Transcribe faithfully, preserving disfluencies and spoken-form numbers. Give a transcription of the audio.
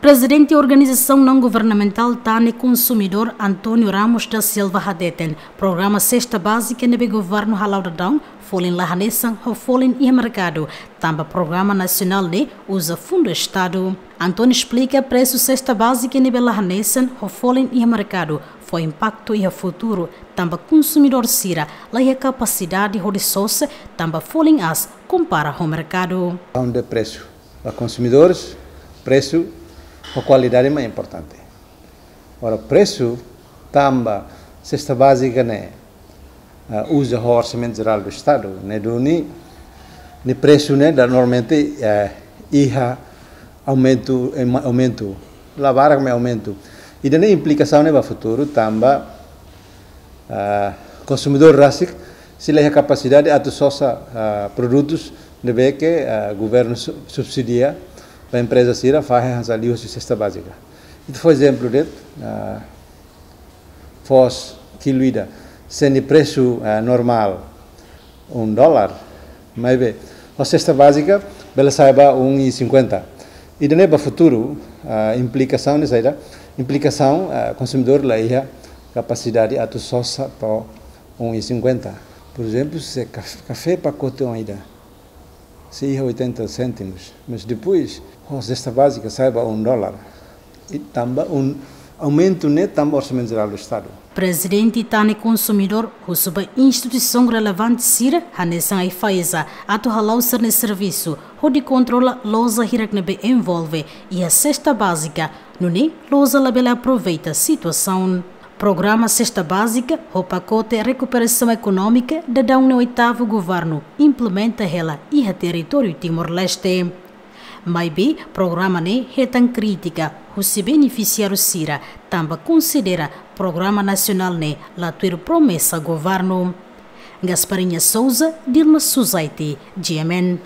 Prezidente Organizasaun Naun Governamentál Tane Konsumidór, António Ramos da Silva, hateten programa Sesta Bázika ne'ebé governu hala'o daudaun folin la hanesan ho folin iha merkadu, tanba programa nasionál ne'e uza fundu Estadu. António esplika presu sesta bázika ne'ebé la hanesan ho folin iha merkadu fó impaktu iha futuru, tanba konsumidór sira la iha kapasidade hodi sosa, tanba folin aas kompara ho merkadu. Onde presu. Para konsumidores, presu ho kualidade mak importante. Ora, presu tanba sesta bázika ne'e, ah, uza ho Orsamentu Jerál do Estadu, ne'e duni, nia presu ne'e ida normalmente, eh, iha aumentu, em, aumentu, la barak mak aumentu. Ida-ne'e implikasaun ne'e ba futuru tanba, ah, konsumidór rasik sei la iha kapasidade atu sosa, ah, produtus ne'ebé ke, ah, governu su-, subsidia ba empreza sira fahe hanesan liuhusi sesta bázika. Ita fó ezemplu de'it, ah, foos kilu ida, se nia presu, ah, normál um dólar, maibé ho sesta bázika bele sai ba um e cinquenta. Ida-ne'e ba futuru, ah, implikasaun ne'e saida? Implikasaun, ah, konsumidór la iha kapasidade atu sosa to'o um e cinquenta. Por ezemplu, se kaf-, kafé pakote oan ida sei iha oitenta cêntimos, mas depois ho sesta bázika sai ba um dólar. I tanba um aumentu ne'e tanba Orsamentu Jerál do Estadu. Prezidente Tane Konsumidór husu ba instituisaun relevante sira hanesan AIFAESA atu hala'o sira-nia servisu hodi kontrola loja hirak ne'ebé envolve iha sesta bázika, nune'e loja labele aproveita situasaun. Programa Sesta Bázika ho pakote rekuperasaun ekonómika daudaun ne'e oitavu governu implementa hela iha territóriu Timor-Leste. Maibé programa ne'e hetan krítika husi benefisiáriu sira, tanba konsidera programa nasionál ne'e la tuir promesa governu. Gasparinha Souza, Dilma Suzaiti, G M N.